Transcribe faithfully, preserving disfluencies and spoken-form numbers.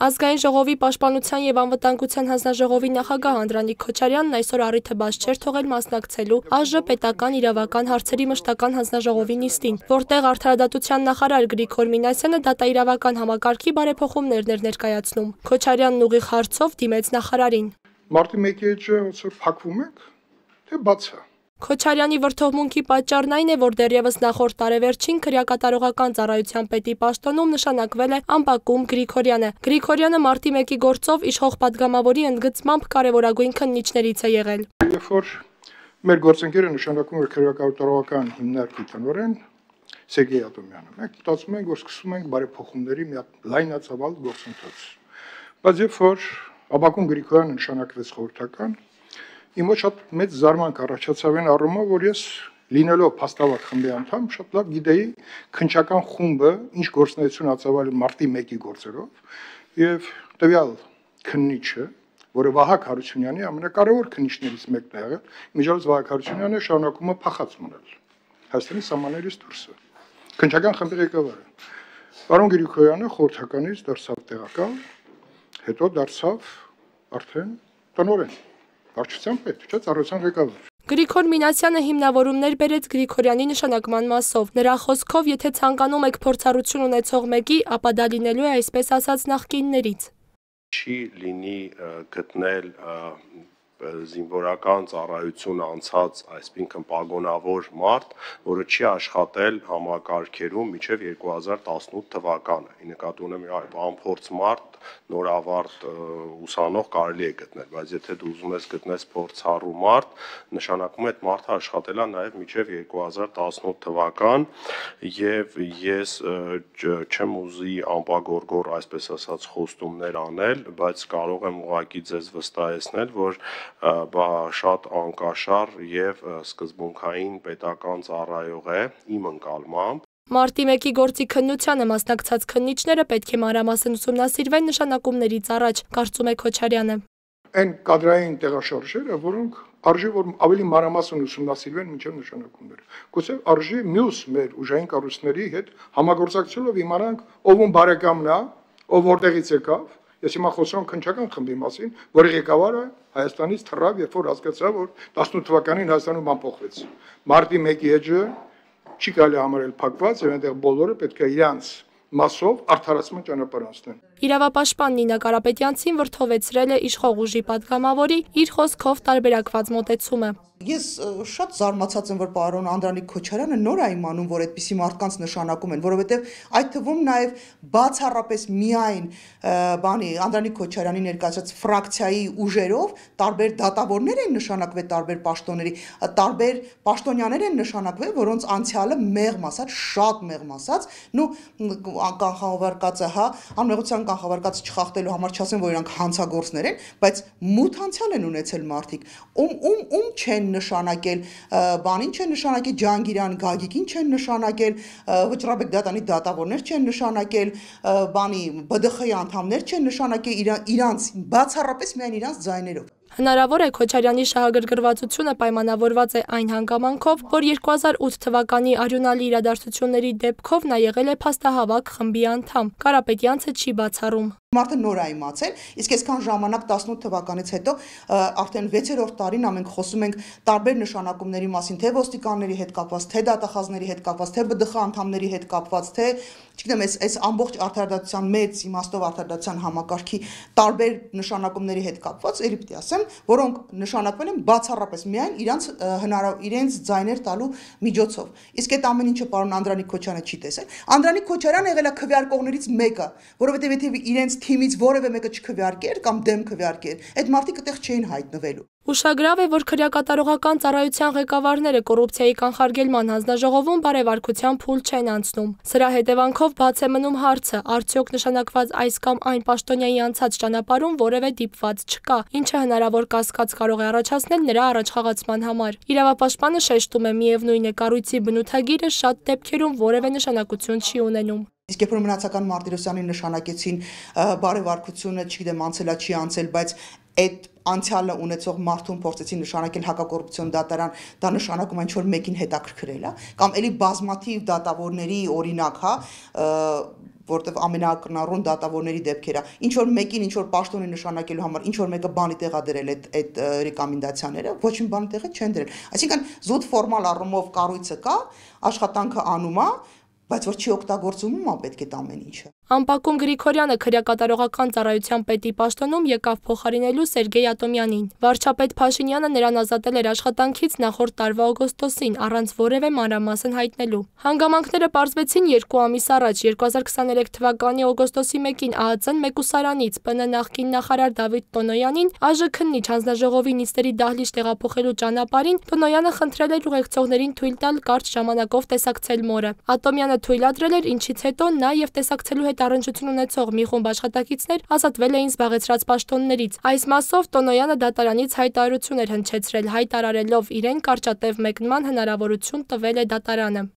Ազգային ժողովի պաշտպանության եւ անվտանգության հանձնաժողովի նախագահ Անդրանիկ Քոչարյանն այսօր առիթը բաց չէր թողել մասնակցելու ԱԺ պետական իրավական հարցերի մշտական հանձնաժողովի նիստին, որտեղ արդարադատության նախարար Գրիգոր Մինասյանը դատաիրավական համակարգի բարեփոխումներն էր ներկայացնում։ Քոչարյանն ուղիղ հարցով դիմեց նախարարին։ Մարտի մեկի հետ ոնց փակվում եք, թե բաց է։ Քոչարյանի վրդովմունքի պատճառն այն է, որ դեռևս նախորդ տարեվերջին քրեակատարողական ծառայության պետի պաշտոնում նշանակվել է Ամբակում Գրիգորյանը։ Գրիգորյանը մարտի մեկի գործով իշխող падգամավորի ընդգծմամբ կարևորագույն քննիչներից է եղել։ Երբ որ մեր գործընկերը նշանակում է քրեակատարողական հիմնարկի տնօրեն Սերգեյ Աթոմյանը, մենք մտածում ենք, որ սկսում ենք բարեփոխումների մի հատ լայնածավալ գործընթաց։ Բայց երբ որ Ամբակում Գրիգորյանը նշանակվեց խորհրդական, Իմ ոչ շատ մեծ զարմանք առաջացավ այն առումով, որ ես լինելով փաստավակ խմբի անդամ, շատ լավ գիտեի քննչական խումբը ինչ գործունեություն ածավալի մարտի մեկի գործերով եւ տվյալ քննիչը, որը Վահագ Հարությունյանի ամենակարևոր քննիչներից մեկն է եղել, միջազգ Վահագ Հարությունյանը շարունակում է փախած մնալ Հայաստանի սահմաններից դուրս։ Քննչական խմբի ղեկավարը Պարոն Գրիգորյանը խորհրդականից դարձավ տեղակալ, հետո դարձավ արդեն տնօրեն։ Վարչության պետ, չէ՞ ծառայության ղեկավար։ Գրիգոր Մինասյանը հիմնավորումներ բերեց Գրիգորյանի նշանակման մասով։ Նրա խոսքով, եթե ցանկանում եք փորձառություն ունեցող մեկի, ապա դա լինելու է այսպես ասած նախկիններից։ Չի լինի գտնել զինվորական ծառայություն անցած, այսինքն պագոնավոր մարդ, որը չի աշխատել համակարգերում մինչև երկու հազար տասնութ թվականը։ Ի նկատի ունեմ անփորձ մարդ, նորավարտ ուսանող կարելի է գտնել, բայց եթե դու ուզում ես գտնես փորձառու մարդ, նշանակում է այդ մարդը աշխատել է նաև մինչև երկու հազար տասնութ թվական, եւ ես չեմ ուզի անպագորգոր, այսպես ասած, խոստումներ անել, բայց կարող եմ ուղղակի ձեզ վստահեցնել, որ բա շատ անկաշառ եւ սկզբունքային պետական ծառայող է իմ ընկալմամբ։ Մարտի մեկի գործի քննությանը մասնակցած քննիչները պետք է մանրամասն ուսումնասիրվեն նշանակումներից առաջ, կարծում է Քոչարյանը։ Այն կադրային տեղաշարժերը, որոնք արժի որ ավելի մանրամասն ուսումնասիրվեն մինչև նշանակումները։ Գուցե արժի մյուս մեր ուժային կառույցների հետ համագործակցելով իմանանք ով ում բարեկամն է, ով որտեղից եկավ։ Ես հիմա խոսում եմ քննչական խմբի մասին, որի ղեկավարը Հայաստանից թռավ, երբ որ հասկացավ, որ տասնութ թվականին Հայաստանում բան փոխվեց։ Մարտի մեկի էջը չի կարելի համարել փակված, եւ այնտեղ բոլորը պետք է իրանց մասով արդարացման ճանապարհ անցնեն։ Իրավապաշտպան Նինա Կարապետյանցին վրդովեցրել է իշխող ուժի падգամավորի իր խոսքով տարբերակված մոտեցումը։ Ես շատ զարմացած եմ, որ պարոն Անդրանիկ Քոչարյանը նոր է իմանում, որ այդպիսի մարդկանց նշանակում են, որովհետև այդ թվում նաև բացառապես միայն բանի Անդրանիկ Քոչարյանի ներկայացած ֆրակցիայի ուժերով տարբեր դատավորներ են նշանակվել տարբեր պաշտոնների, տարբեր պաշտոնյաներ են նշանակվել, որոնց անցյալը մեղմ ասած, շատ մեղմ ասած, նու կանխավարկածը, հա, անմեղության կանխավարկածը չխախտելու համար չասեմ, որ իրանք հանցագործներ են, բայց մութ անցյալ են ունեցել մարդիկ, ում ում ում չեն նշանակել, բանին չեն նշանակել Ջանգիրյան Գագիկին չեն նշանակել, Վճռաբեկ դատանի դատավորներ չեն նշանակել, բանի B D X-ի անդամներ չեն նշանակել իրանց բացառապես միայն իրանց ձայներով։ Հնարավոր է Քոչարյանի շահագրգռվածությունը պայմանավորված է այն հանգամանքով, որ երկու հազար ութ թվականի արյունալի իրադարձությունների դեպքով նա եղել է փաստահավաք խմբի անդամ։ Կարապետյանցը չի բացառում։ Մարդը նոր է իմացել, իսկ այսքան ժամանակ տասնութ թվականից հետո արդեն վեցերորդ տարին մենք խոսում ենք տարբեր նշանակումների մասին, թե ոստիկանների հետ կապված, թե դատախազների հետ կապված, թե B D X անդամների հետ կապված, թե չգիտեմ, այս այս ամբողջ արդարադատության մեծ իմաստով արդարադատության համակարգի տարբեր նշանակումների հետ կապված, ելի պիտի ասեմ, որոնք նշանակվել են բացառապես միայն իրանց հնարավոր իրենց ձայներ տալու միջոցով։ Իսկ այդ ամեն ինչը պարոն Անդրանիկ Քոչարյանը չի տեսել։ Անդրանիկ Քոչարյանը եղել է քվեարկողներից մեկը, որովհետև եթե իրենց թիմից որևէ մեկը չքվեարկեր կամ դեմ քվեարկեր, այդ մարդիկ այդտեղ չէին հայտնվելու։ Ուշագրավ է, որ քրեակատարողական ծառայության ղեկավարները կոռուպցիայի կանխարգելման հանձնաժողովում բարեվարկության փուլ չեն անցնում։ Սրա հետևանքով բաց է մնում հարցը, արդյոք նշանակված այս կամ այն պաշտոնյայի անցած ճանապարհում որևէ դիպված չկա, ինչը հնարավոր կասկած կարող է առաջացնել նրա առաջխաղացման համար։ Իրավապաշտպանը շեշտում է, միևնույն է, կառույցի բնութագիրը շատ դեպքերում որևէ նշանակություն չի ունենում։ Իսկ երբ որ մնացական Մարտիրոսյանին նշանակեցին բարեվարկությունը, չգիտեմ, անցելա չի անցել, բայց այդ անցյալը ունեցող մարդուն փորձեցին նշանակել հակակոռուպցիոն դատարան, դա նշանակում է ինչ-որ մեկին հետաքրքրել է, կամ էլի բազմաթիվ դատավորների օրինակ, հա, որտեվ ամենակրնառուն դատավորների դեպքերը, ինչ որ մեկին ինչ որ պաշտոնի նշանակելու համար, ինչ որ մեկը բանի տեղա դրել այդ այդ ռեկոմենդացիաները, ոչ մի բանի տեղը չեն դրել։ Այսինքն զուտ ֆորմալ առումով կառույցը կա, աշխատանքը անում է, բայց որ չի օգտագործվում, ա պետք է ամեն ինչը։ Ամպակում Գրիգորյանը քրեակատարողական ծառայության պետի պաշտոնում եկավ փոխարինելու Սերգեյ Ատոմյանին։ Վարչապետ Փաշինյանը նրան ազատել էր աշխատանքից նախորդ տարվա օգոստոսին առանց որևէ մանրամասն հայտնելու։ Հանգամանքները պարզվեցին երկու ամիս առաջ, երկու հազար քսաներեք թվականի օգոստոսի մեկին ԱԱԾ-ն մեկուսարանից ՊՆ նախկին նախարար Դավիթ Տոնոյանին ԱԺՔ-նիչ հանձնաժողովի նիստերի դահլիճ տեղափոխելու ճանապարհին Տոնոյանը խնդրել էր ուղեկցողներին թույլ տալ կարճ ժամանակով տեսակցել մորը։ Ատոմյանը թույլատրել էր, ինչից հետո նա եւ տեսակցելու հետ առնչություն ունեցող մի խումբ աշխատակիցներ ազատվել էին զբաղեցրած պաշտոններից։ Այս մասով Տոնոյանը դատարանից հայտարարություն էր հնչեցրել, հայտարարելով իրեն կարճատև մեկնման հնարավորություն տվել է դատարանը։